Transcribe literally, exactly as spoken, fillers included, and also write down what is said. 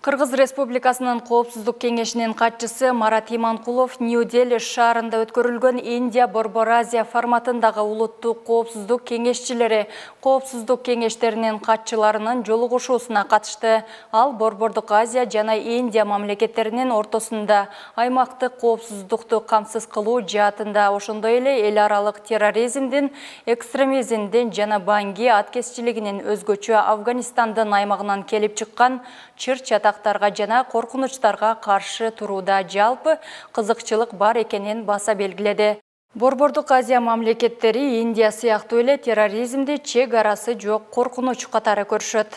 Кыргыз Республикасынын Коопсуздук кеңешинин катчысы Марат Иманкулов Нью-Дели шаарында өткөрүлгөн Индия Борбор Азия форматындагы улуттук коопсуздук кеңешчилери коопсуздук кеңештеринин катчыларынын жолугушуусуна катышты. Ал Борбордук Азия жана Индия мамлекеттеринин ортосунда аймактык коопсуздукту камсыз кылуу жаатында, ошондой эле эл аралык терроризмдин, экстремизмдин жана баңги аткезчилигинин өзгөчө Афганистандын аймагынан келип чыккан чыр-чатак жана коркунучтарга каршы турууда жалпы кызыкчылык бар экенин баса белгиледи. Борбордук Азия мамлекеттери Индия сыяктуу эле терроризмди чек арасы жок коркунуч катары көрүшөт.